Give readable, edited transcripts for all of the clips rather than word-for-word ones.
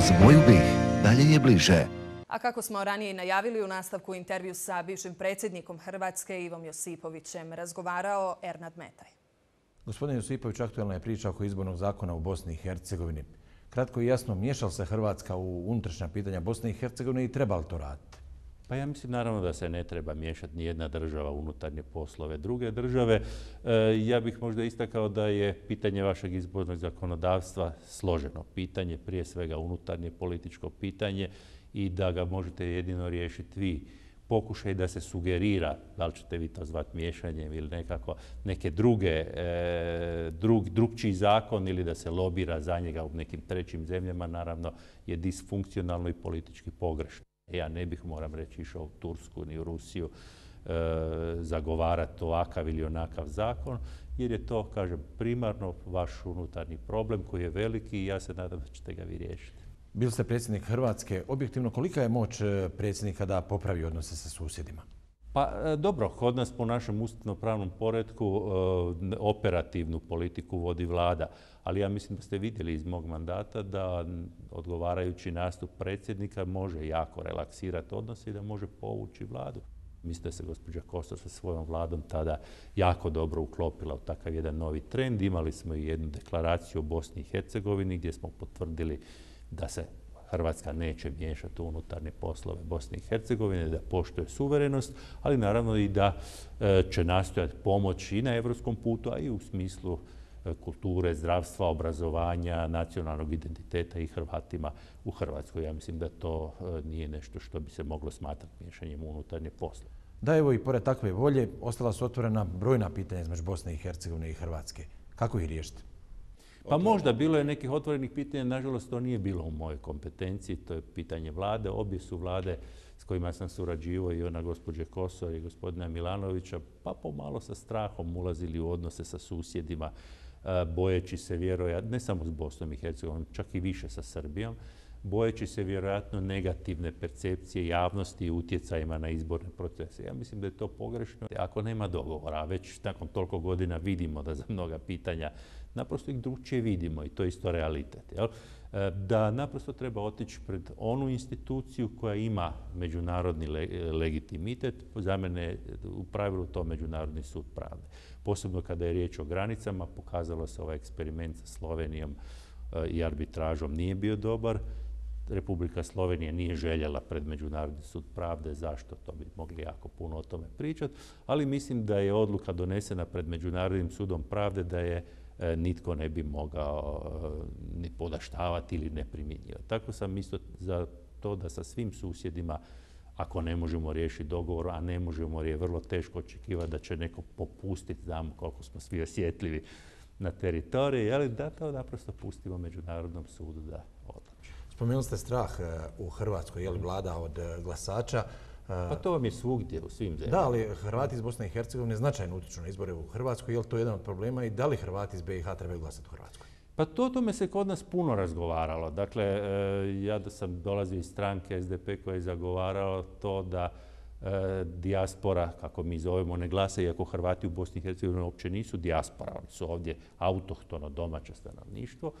Uz moju bih, dalje je bliže. A kako smo ranije najavili, u nastavku intervju sa bivšim predsjednikom Hrvatske Ivom Josipovićem razgovarao Ernad Metaj. Gospodin Josipović, aktualna je priča oko izbornog zakona u Bosni i Hercegovini. Kratko i jasno, miješala se Hrvatska u unutrašnja pitanja Bosne i Hercegovine i treba li to raditi? Pa ja mislim naravno da se ne treba miješati ni jedna država u unutarnje poslove druge države. Ja bih možda istakao da je pitanje vašeg izbornog zakonodavstva složeno pitanje, prije svega unutarnje političko pitanje i da ga možete jedino riješiti vi. Pokušaj da se sugerira, da li ćete vi to zvati miješanjem ili nekako neke drugčiji zakon ili da se lobira za njega u nekim trećim zemljama, naravno je disfunkcionalno i politički pogrešno. Ja ne bih, moram reći, išao u Tursku ni u Rusiju zagovarati ovakav ili onakav zakon, jer je to, kažem, primarno vaš unutarnji problem koji je veliki i ja se nadam da ćete ga vi riješiti. Bili ste predsjednik Hrvatske. Objektivno, kolika je moć predsjednika da popravi odnose sa susjedima? Pa dobro, kod nas po našem ustavno-pravnom poretku operativnu politiku vodi vlada, ali ja mislim da ste vidjeli iz mog mandata da odgovarajući nastup predsjednika može jako relaksirati odnose i da može povući vladu. Mislim da se gospođa Kosor sa svojom vladom tada jako dobro uklopila u takav jedan novi trend. Imali smo i jednu deklaraciju o Bosni i Hercegovini gdje smo potvrdili da se Hrvatska neće miješati u unutarnje poslove Bosne i Hercegovine, da poštuje suverenost, ali naravno i da će nastojati pomoći i na europskom putu, a i u smislu kulture, zdravstva, obrazovanja, nacionalnog identiteta i Hrvatima u Hrvatskoj. Ja mislim da to nije nešto što bi se moglo smatrati miješanjem u unutarnje poslove. Da, evo i pored takve volje, ostala su otvorena brojna pitanja između Bosne i Hercegovine i Hrvatske. Kako ih riješiti? Pa možda bilo je nekih otvorenih pitanja, nažalost to nije bilo u mojoj kompetenciji, to je pitanje vlade. Obje su vlade s kojima sam surađivao, i ona gospođe Kosor i gospodina Milanovića, pa pomalo sa strahom ulazili u odnose sa susjedima, bojeći se vjerojatno, ne samo s Bosnom i Hercegovinom, čak i više sa Srbijom, bojeći se vjerojatno negativne percepcije javnosti i utjecajima na izborne procese. Ja mislim da je to pogrešno. Ako nema dogovora, a već nakon toliko godina vidimo da za mnoga pitanja naprosto ih drugčije vidimo i to je isto realitet. Jel? Da naprosto treba otići pred onu instituciju koja ima međunarodni legitimitet, za mene je u pravilu to Međunarodni sud pravde. Posebno kada je riječ o granicama, pokazalo se ovaj eksperiment sa Slovenijom i arbitražom nije bio dobar. Republika Slovenija nije željela pred Međunarodni sud pravde. Zašto? To bi mogli jako puno o tome pričati. Ali mislim da je odluka donesena pred Međunarodnim sudom pravde da je nitko ne bi mogao ni podaštavati ili ne primjenjivati. Tako sam isto za to da sa svim susjedima, ako ne možemo riješiti dogovor, a ne možemo jer je vrlo teško očekivati da će neko popustiti, znamo koliko smo svi osjetljivi na teritoriji, ali da to naprosto pustimo Međunarodnom sudu da odluči. Spomenuli ste strah u Hrvatskoj, je li vlada od glasača? Pa to vam je svugdje, u svim zemljama. Da, ali Hrvati iz Bosne i Hercegovine značajno utječu na izbore u Hrvatskoj. Je li to jedan od problema i da li Hrvati iz BiH trebaju glasati u Hrvatskoj? Pa o tome se kod nas puno razgovaralo. Dakle, ja da sam dolazio iz stranke SDP koja je zagovarala to da dijaspora, kako mi zovemo, ne glasa, iako Hrvati u Bosni i Hercegovini uopće nisu dijaspora, oni su ovdje autohtono domaće stanovništvo.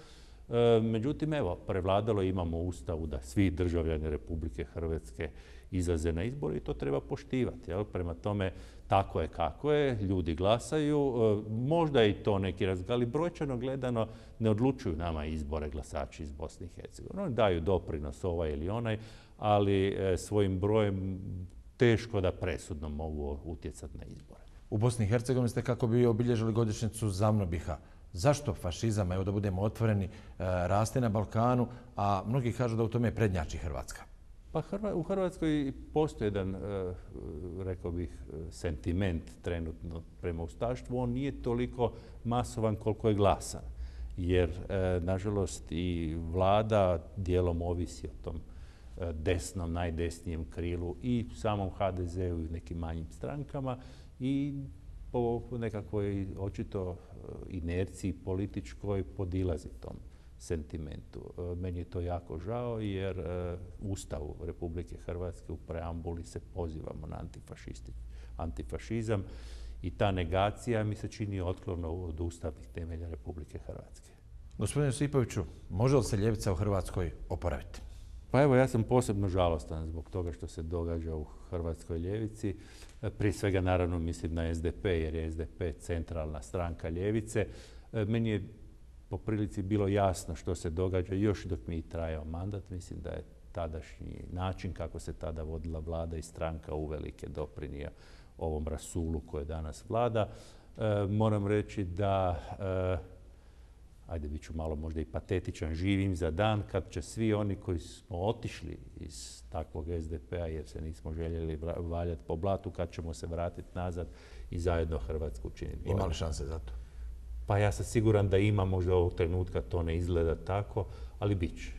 Međutim, evo, prevladalo imamo u Ustavu da svi državljani Republike Hrvatske izlaze na izbore i to treba poštivati. Jel? Prema tome, tako je kako je, ljudi glasaju, možda i to neki razgovor, ali brojčano gledano ne odlučuju nama izbore glasači iz Bosne i Hercegovine. Oni daju doprinos ovaj ili onaj, ali svojim brojem teško da presudno mogu utjecati na izbore. U Bosni i Hercegovini ste kako bi obilježili godišnjicu ZAVNOBiH-a. Zašto fašizam, evo da budemo otvoreni, raste na Balkanu, a mnogi kažu da u tome prednjači Hrvatska? Pa u Hrvatskoj postoji jedan, rekao bih, sentiment trenutno prema ustaštvu. On nije toliko masovan koliko je glasan. Jer, nažalost, i vlada dijelom ovisi o tom desnom, najdesnijem krilu i samom HDZ-u i nekim manjim strankama i po nekakvoj očito inerciji političkoj podilazi tom sentimentu. Meni je to jako žao jer u Ustavu Republike Hrvatske u preambuli se pozivamo na antifašizam i ta negacija mi se čini otklona od ustavnih temelja Republike Hrvatske. Gospodine Josipoviću, može li se ljevica u Hrvatskoj oporaviti? Pa evo, ja sam posebno žalostan zbog toga što se događa u hrvatskoj ljevici. Prije svega, naravno, mislim na SDP, jer je SDP centralna stranka ljevice. Meni je po prilici bilo jasno što se događa još dok mi trajao mandat. Mislim da je tadašnji način kako se tada vodila vlada i stranka uvelike doprinio ovom rasulu koje danas vlada. Moram reći da, ajde bit ću malo možda i patetičan, živim za dan kad će svi oni koji smo otišli iz takvog SDP-a jer se nismo željeli valjati po blatu, kad ćemo se vratiti nazad i zajedno Hrvatsku učiniti. Ima li šanse za to? Pa ja sam siguran da ima, možda ovog trenutka to ne izgleda tako, ali bit će.